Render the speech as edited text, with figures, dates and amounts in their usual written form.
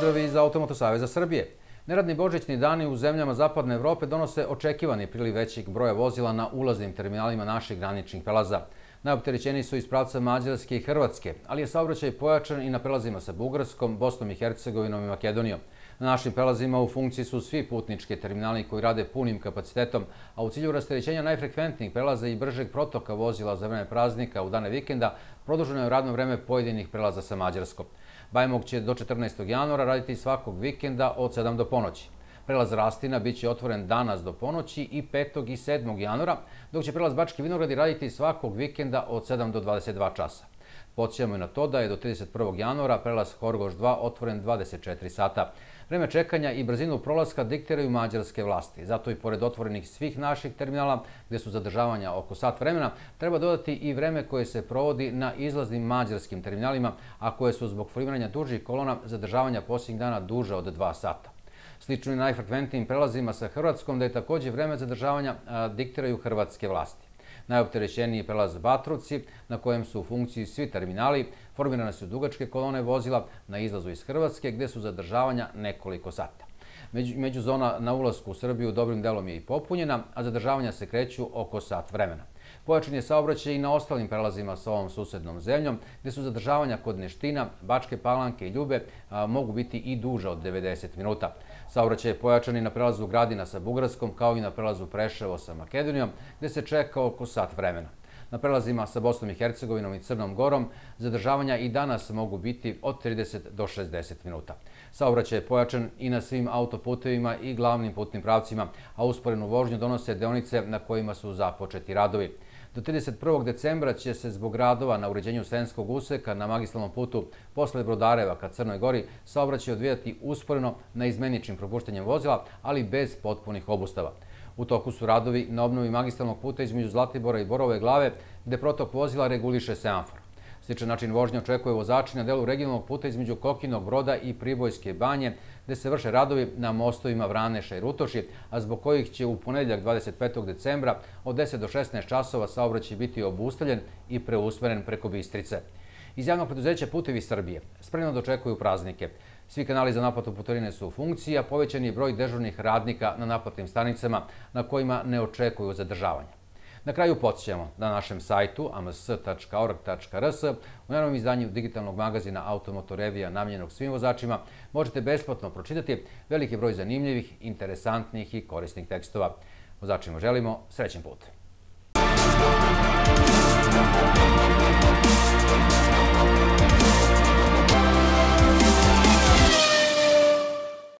pozdravi iz Automoto Saveza Srbije. Neradni božićni dani u zemljama Zapadne Evrope donose očekivani priliv većeg broja vozila na ulaznim terminalima naših graničnih prelaza. Najopterećeniji su iz pravca Mađarske i Hrvatske, ali je saobraćaj pojačan i na prelazima sa Bugarskom, Bosnom i Hercegovinom i Makedonijom. Na našim prelazima u funkciji su svi putnički terminali koji rade punim kapacitetom, a u cilju rasterećenja najfrekventnijih prelaza i bržeg protoka vozila za vreme praznika u dane vikenda, produženo je radno vreme pojedinih prelaza sa Mađarskom. Bajmog će do 14. januara raditi svakog vikenda od 7 do ponoći. Prelaz Rastina biće otvoren danas do ponoći i 5. i 7. januara, dok će prelaz Bački Vinogradi raditi svakog vikenda od 7 do 22 časa. Podsjećamo i na to da je do 31. januara prelaz Horgoš 2 otvoren 24 sata. Vreme čekanja i brzinu prolaska diktiraju mađarske vlasti. Zato i pored otvorenih svih naših terminala, gde su zadržavanja oko sat vremena, treba dodati i vreme koje se provodi na izlaznim mađarskim terminalima, a koje su zbog formiranja dužih kolona zadržavanja posljednjih dana duže od 2 sata. Slično i najfrekventnijim prelazima sa Hrvatskom, da je također vreme zadržavanja diktiraju hrvatske vlasti. Najopterećeniji prelaz Batrovci, na kojem su u funkciji svi terminali, formirane su dugačke kolone vozila na izlazu iz Hrvatske, gde su zadržavanja nekoliko sata. Međuzona na ulasku u Srbiju dobrim delom je i popunjena, a zadržavanja se kreću oko sat vremena. Pojačan je saobraćaj i na ostalim prelazima sa ovom susednom zemljom, gde su zadržavanja kod Neština, Bačke Palanke i Ljube mogu biti i duža od 90 minuta. Saobraćaj je pojačan i na prelazu Gradina sa Bugarskom, kao i na prelazu Preševo sa Makedonijom, gde se čeka oko sat vremena. Na prelazima sa Bosnom i Hercegovinom i Crnom Gorom zadržavanja i danas mogu biti od 30 do 60 minuta. Saobraćaj je pojačan i na svim autoputevima i glavnim putnim pravcima, a usporenu vožnju donose deonice na kojima su započeti radovi. Do 31. decembra će se zbog radova na uređenju Sremskog useka na magistralnom putu posle Brodareva ka Crnoj Gori saobraćaj odvijati usporeno na izmeničnim propuštanjem vozila, ali bez potpunih obustava. U toku su radovi na obnovi magistralnog puta između Zlatibora i Borove Glave, gde protok vozila reguliše semafor. Sličan način vožnje očekuje vozači na delu regionalnog puta između Kokinog Broda i Pribojske Banje, gde se vrše radovi na mostovima Vraneša i Rutoši, a zbog kojih će u ponedeljak 25. decembra od 10 do 16 časova saobraćaj biti obustavljen i preusmeren preko Bistrice. Iz javnog preduzeća Putevi Srbije spremno dočekuju praznike. Svi kanali za naplatu putarine su u funkciji, a povećan je broj dežurnih radnika na naplatnim stanicama na kojima ne očekuju zadržavanja. Na kraju podsjećamo na našem sajtu ams.org.rs u novom izdanju digitalnog magazina Automoto Revija namijenjenog svim vozačima možete besplatno pročitati veliki broj zanimljivih, interesantnih i korisnih tekstova. Vozačima želimo srećan put!